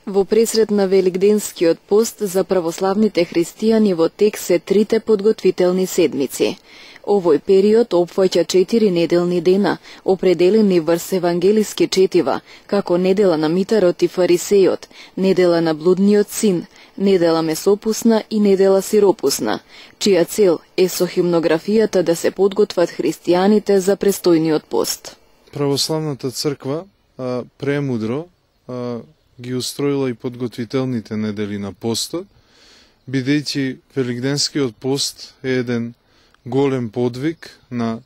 Во пресред на Великденскиот пост за православните христијани во тек се трите подготвителни седмици. Овој период опфаќа 4 неделни дена, определени врз евангелиски четива, како недела на митарот и фарисејот, недела на блудниот син, недела месопусна и недела сиропусна, чија цел е со химнографијата да се подготват христијаните за престојниот пост. Православната црква премудро ги устроила и подготвителните недели на постот, бидејќи Великденскиот пост е еден голем подвиг на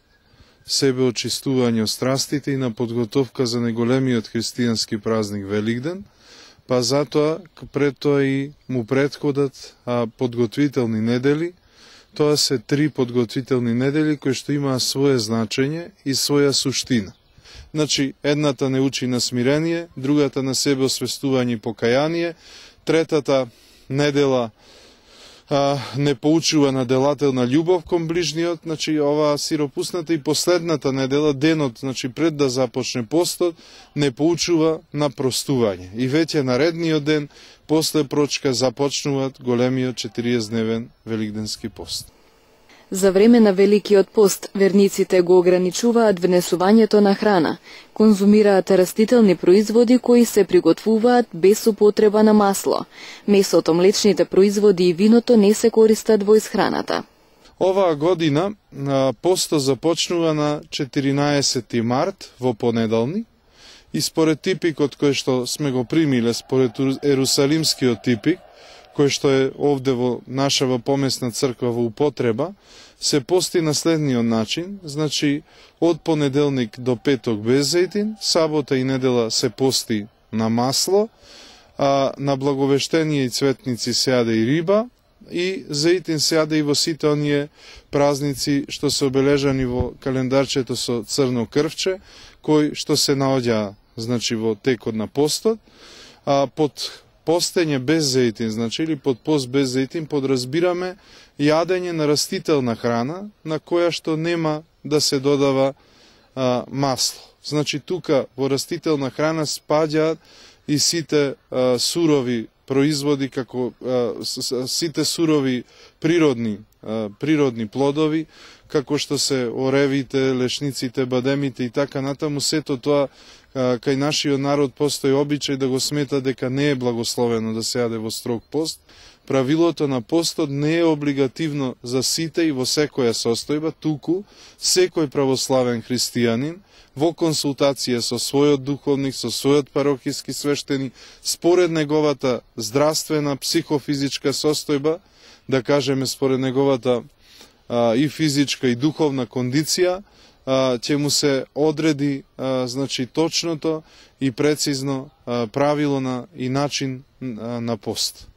себеочистување од страстите и на подготовка за неголемиот христијански празник Великден, па затоа пред тоа и му претходат подготвителни недели. Тоа се 3 подготвителни недели кои што имаа свое значење и своја суштина. Значи, едната не учи на смирение, другата на себе освестување и покаяние, третата недела не поучува на делателна љубов кон ближниот, значи оваа сиропусната, и последната недела, денот, значи пред да започне постот, не поучува на простување. И веќе наредниот ден, после прочка, започнуваат големиот 40-дневен Великденски пост. За време на Великиот пост, верниците го ограничуваат внесувањето на храна, конзумираат растителни производи кои се приготвуваат без употреба на масло. Месото, млечните производи и виното не се користат во исхраната. Оваа година постот започнува на 14 март во понеделник и според типикот кој што сме го примиле, според ерусалимскиот типик, кој што е овде во нашава помесна црква во употреба, се пости на следниот начин, значи од понеделник до петок без зејтин, сабота и недела се пости на масло, а на благовештение и цветници се јаде и риба, и зејтин се јаде и во сите оние празници што се обележани во календарчето со црно крвче, кои што се наоѓа, значи, во текот на постот, а под постење без зејтин, значи, или под пост без зејтин, подразбираме јадење на растителна храна, на која што нема да се додава масло. Значи, тука во растителна храна спаѓаат и сите сурови производи, како сите сурови природни плодови, како што се оревите, лешниците, бадемите и така натаму. Сето тоа кај нашиот народ постои обичај да го смета дека не е благословено да се јаде во строг пост. Правилото на постот не е облигативно за сите и во секоја состојба, туку секој православен христијанин во консултација со својот духовник, со својот парокиски свештеник, според неговата здравствена, психофизичка состојба, да кажеме според неговата и физичка и духовна кондиција, ќе му се одреди значи точното и прецизно правило и начин на пост.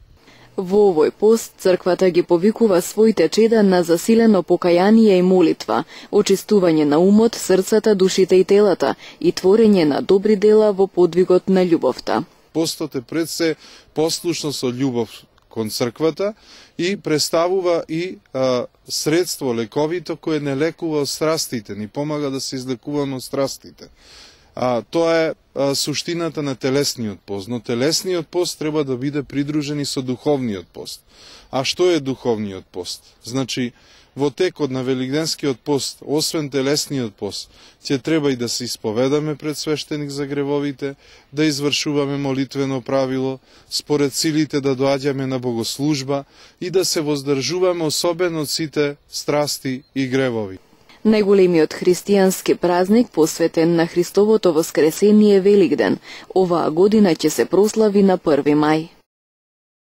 Во овој пост црквата ги повикува своите чеда на засилено покаяние и молитва, очистување на умот, срцата, душите и телата и творење на добри дела во подвигот на љубовта. Постот е пред се послушно со љубов кон црквата и представува и средство лековито кое не лекува од страстите, ни помага да се излекуваме од страстите. Тоа е суштината на телесниот пост, но телесниот пост треба да биде придружен и со духовниот пост. А што е духовниот пост? Значи, во текот на Великденскиот пост, освен телесниот пост, ќе треба и да се исповедаме пред свештеник за гревовите, да извршуваме молитвено правило, според силите да доаѓаме на богослужба и да се воздржуваме особено од сите страсти и гревови. Најголемиот христијански празник посветен на Христовото воскресение Великден, оваа година ќе се прослави на 1 мај.